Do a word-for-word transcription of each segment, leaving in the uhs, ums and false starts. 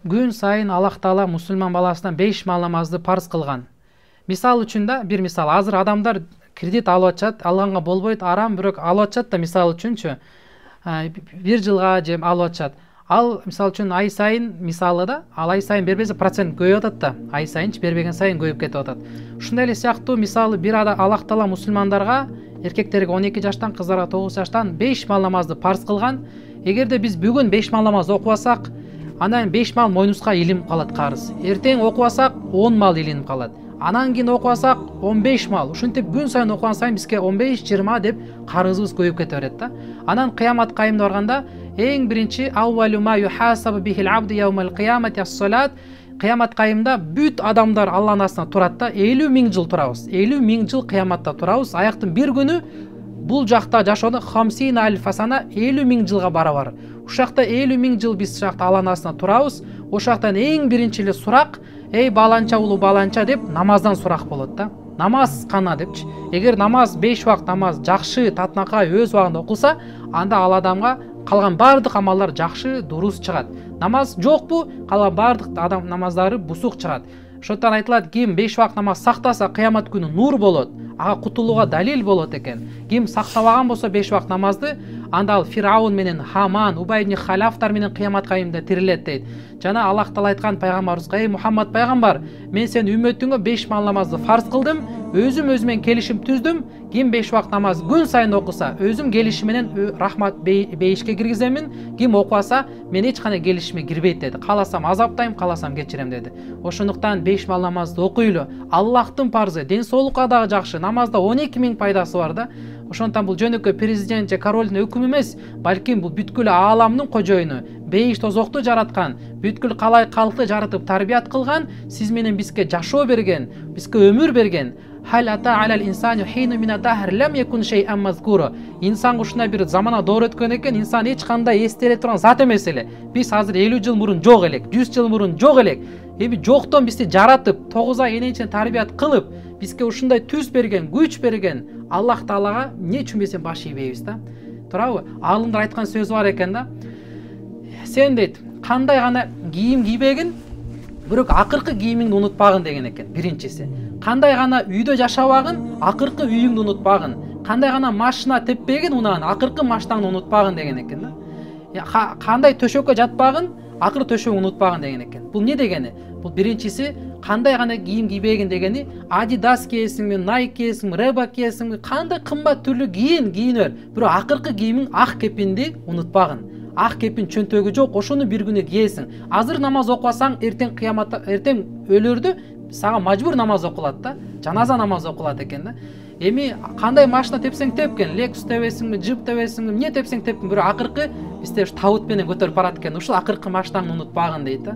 күн сайын Аллах Таала мусулман баласынан беш маал намазды парыз кылган. Мисал үчүн да, бир мисал, азыр адамдар кредит алып атышат, алганга болбойт, арам, бирок алып атышат да, мисал үчүнчү, бир жылга же алып атышат. Ал мисал үчүн ай сайын, мисалы да, ал ай сайын бербесе процент көбөйүп атат да, ай сайынчы бербеген сайын көбөйүп кетип атат. Ушундай эле сыяктуу, мисалы, бир Аллах Таала мусулмандарга, эркектерге он эки жаштан, кыздарга тогуз жаштан беш маал намазды парыз кылган. Эгерде биз бүгүн беш маал намаз окубасак, анан беш маал мойнубузга илинип калат карыз. Эртең окубасак он маал илинип калат. Анан кийин окубасак он беш маал. Ушинтип күн сайын окуган сайын бизге он беш жыйырма деп карызыбыз көбөйүп кете берет да. Анан кыямат кайымда барганда эң биринчи аввалу ма юхасабу бихил абду яумал кыямати ас-салат. Кыямат кайымда бүт адамдар Алланын астына турат да, элүү миң жыл турабыз. элүү миң жыл кыяматта турабыз. Аяктын бир күнү бул жакта жашоодо хамсина алиф фасана элүү миң жылга барабар. Ушул жакта элүү миң жыл биз жакта Алланын астына турабыз. Ошол жактан эң биринчи эле сурак, эй баланча улуу баланча деп намаздан сурак болот да. Намаз кана депчи. Эгер намаз беш убакыт намаз жакшы, татынакай өз убагында окулса, анда ал адамга калган бардык амалдар жакшы, дурус чыгат. Намаз жокпу, калган бардык адам намаздары бусук чыгат. Ошондон айтылат, ким беш убакыт намаз сактаса, кыямат күнү нур болот, ага кутулууга далил болот экен. Ким сактабаган болсо беш убакыт намазды, анда ал Фираун менен Хаман, Убай ибн Халафтар менен кыямат кайымда тирилет дейт. Жана Аллах Таала айткан пайгамбарыбызга, эй Мухаммад пайгамбар, мен сени үммөтүңө беш маал намазды фарз кылдым, өзүм өзүмен келишим түздүм. Ким беш убакыт намаз күн сайын окуса, өзүм келишим менен рахмат бейишке киргиземин. Ким окубаса, мен эч кандай келишиме кирбейт деди. Кааласам азаптайм, кааласам кечирем деди. Ошондуктан беш маал намазды окуйлу. Аллахтын парзы, ден соолукка дагы жакшы. Намазда он эки миң пайдасы бар да. Ошондон бул жөнөкөй президент же королдун өкүмү эмес, балким бул бүткүл ааламдын кожоюну, бейиш тозокту жараткан, бүткүл калай калкты жаратып тарбият кылган, сиз менен бизге жашоо берген, бизге өмүр берген. Хал ата алал инсану хину мина дахр лам якун шей'ан мазкура. Инсан ушундай бир замана доор өткөн экен, инсан эч кандай эстеле турган зат эмес эле. Биз азыр элүү жыл мурун жок элек, жүз жыл мурун жок элек. Эми жоктон бизди жаратып, тогуз ай энечен тарбият кылып, бизге ушундай түз берген, күч берген Аллах Таалага эмне үчүн бесен баш ийбейбиз да? Туурабы? Аалымдар айткан сөз бар экен да. Сен дейт, кандай гана кийим кийбегин, бирок акыркы кийимиңди унутпагын деген экен, биринчиси. Кандай гана үйдө жашабагын, акыркы үйүңдү унутпагын. Кандай гана машина теппегин, унан акыркы машинаңды унутпагын деген экен да. Кандай төшөккө жатпагын, акыркы төшөгүңдү унутпагын деген экен. Бул эмне дегени? Бул биринчиси кандай гана кийим кийбегин дегени, Adidas кийесиңби, Nike кийесиңби, Reebok кийесиңби, кандай кымбат түрлүү кийин, кийинөр. Бирок акыркы кийимиң ак кепинди унутпагын. Ак кепин чөнтөгү жок, ошону бир күнү кийесиң. Азыр намаз окубасаң, эртең кыяматта, эртең өлөрдө сага мажбур намаз окулат да, жаназа намазы окулат экен да. Эми кандай машина тепсең тепкен, Lexus тебесиңби, Jeep тебесиңби, эмне тепсең тепкин, бирок акыркы бизде ушу табут менен көтөрүп барат экен. Ушул акыркы машинаңды унутпагын дейт да.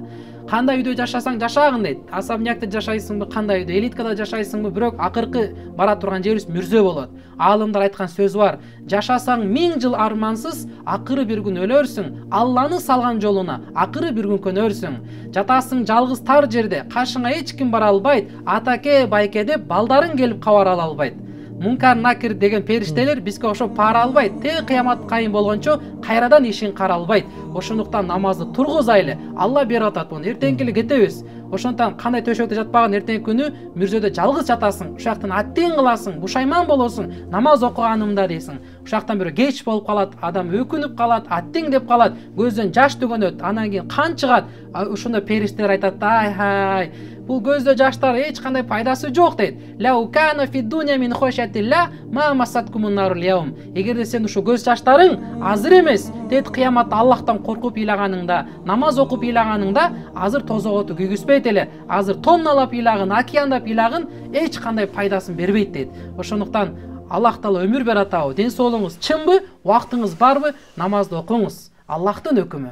Кандай үйдө жашасаң жашагын дейт. Особнякта жашайсыңбы, кандай үйдө, элиткада жашайсыңбы, бирок акыркы бара турган жерибиз мүрзө болот. Аалымдар айткан сөз бар. Жашасаң миң жыл армансыз, акыры бир күн өлөрсүң. Алланы салган жолуна акыры бир күн көнөрсүң. Жатасың жалгыз тар жерде, кашыңа эч ким бара албайт. Атаке, байке деп балдарың келип кабар ала албайт. Мункар накир деген периштелер бизге ошоп пара албайт. Те кыямат кайым болгончо кайрадан ишин кара албайт. Ошондуктан намазды тургузайлы. Алла берип атат буну. Эртеңки эле кетебиз. Ошондон кандай төшөктө жатпаган, эртеңки күнү мүрзөдө жалгыз жатасың. Ушул жактан аттең кыласың, бушайман болосуң. Намаз окуганымда дейсиң. Ушул жактан бирөө кеч болуп калат, адам өкүнүп калат, аттең деп калат, көздөн жаш төгөнөт. Анан кийин кан чыгат. Ошондо периштелер айтат: "Ай хай, бул көздө жаштар эч кандай пайдасы жок" дейт. Лау кана фи дуня мин хошатилла ма масаткумун нарул яум. Эгерде сен ушу көз жаштарың азыр эмес, дейт кыяматта Аллахтан коркуп ыйлаганыңда, намаз окуп ыйлаганыңда, азыр тозоготу күйгүзбөйт эле. Азыр тонналап ыйлагын, океандап ыйлагын эч кандай пайдасын бербейт дейт. Ошондуктан Аллах Таала өмүр берет атабы, ден соолугуңуз чынбы, убактыңыз барбы, намазды окуңуз. Аллахтын өкүмү.